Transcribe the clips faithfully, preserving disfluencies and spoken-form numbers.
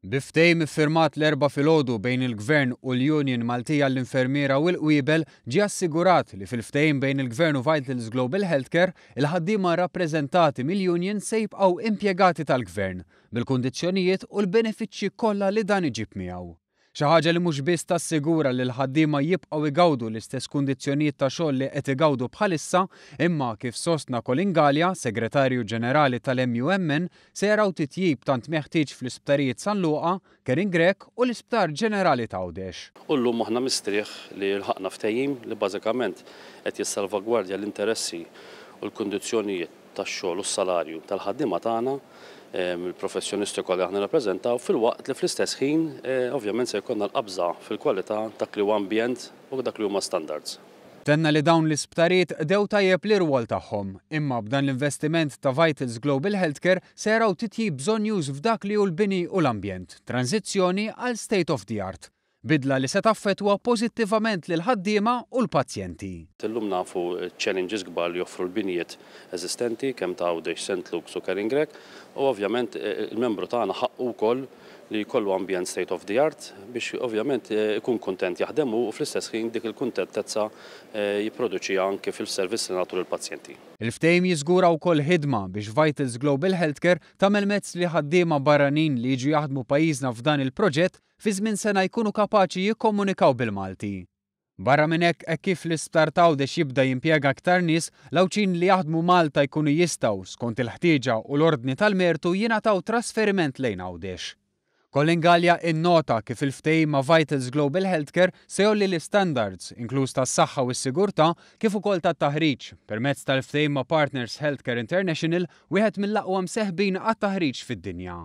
Bi ftehim iffirmat l-Erbgħa filgħodu bejn il-Gvern u l-Union Maltija l-Infermiera u l-Qwiebel, ġie assigurat li fil-ftehim bejn il-Gvern u Vitals Global Healthcare, il-ħaddiema rappreżentati mill-Union se jibqgħu impjegati tal-Gvern, bil-kundizzjonijiet u l-benefiċċji kollha li dan iġib miegħu. Xi ħaġa li mhux biss tassigura li l-ħaddiema jibqgħu igawdu l-istess kundizzjonijiet ta' xogħol li qed igawdu bħalissa, imma kif sostna Colin Galea, Segretarju Ġenerali tal-M U M N, se jaraw titjib tant meħtieġ fl-isptarijiet San Luqa, Karin Grech u l-Isptar Ġenerali t'Għawdex. U llum aħna mistrieħ li lħaqna ftehim li bażikament qed jissalvagwardja l-interessi u l-kundizzjonijiet tax-xogħol u s-salarju tal-ħaddiema tagħna, il-professjonisti kollha aħna rappreżentaw, filwaqt li fl-istess ħin eh, ovvjament se jkollna l-qabża fil-kwalità, dak li huwa ambjent u dak li huma standards. Tenna li dawn l-isptarijiet qdew tajjeb l-irwol tagħhom, imma b'dan l-investiment ta' Vitals Global Healthcare se jaraw titjib bżonjuż f'dak li hu l-bini u l-ambjent, tranzizzjoni għal state of the art. Bidla li se taffetwa pożittivament lil ħaddiema u l-pazjenti. Illum nafu challenges kbar li joffru l-binjiet eżistenti kemm ta' Għawdex, Saint Luke's u Karin Grech, u ovvjament eh, il-membru tagħna ħaqqu wkoll li jkollu ambjent state of the art biex ovvjament eh, ikun kuntent jaħdem u fl-istess ħin dik il-kuntentezza eh, jipproduċi anke fil-servizz li nagħtu lill-pazjenti. Il-ftehim jiżgura wkoll ħidma biex Vitals Global Healthcare tagħmel mezz li ħaddiema barranin li jiġu jaħdmu pajjiżna f'dan il-proġett fi żmien sena jkunu kapaċi jikkomunikaw bil-Malti. Barra minn hekk, hekk kif l-isptar t'Għawdex jibda jimpjega aktar nies, l-Għawdxin li jaħdmu Malta jkunu jistgħu, skont il-ħtieġa u l-ordni tal-mertu, jingħataw trasferiment lejn Għawdex. Colin Galea innota kif il-ftehim ma' Vitals Global Healthcare se jgħolli l-standards, inkluż tas-saħħa u s-sigurtà, kif ukoll tat-taħriġ, permezz tal-ftehim ma' Partners Healthcare International, wieħed mill-aqwa mseħbin għat-taħriġ fid-dinja.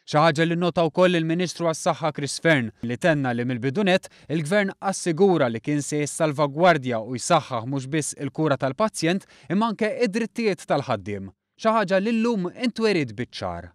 Xi ħaġa li nota wkoll il-Ministru għas-Saħħa Chris Fearne, li tenna li mill-bidu nett il-Gvern assigura li kien se jissalvagwardja u jsaħħaħ mhux biss il-kura tal-pazjent imma anke id-drittijiet tal-ħaddiem. Xi ħaġa li llum intweriet biċ-ċar.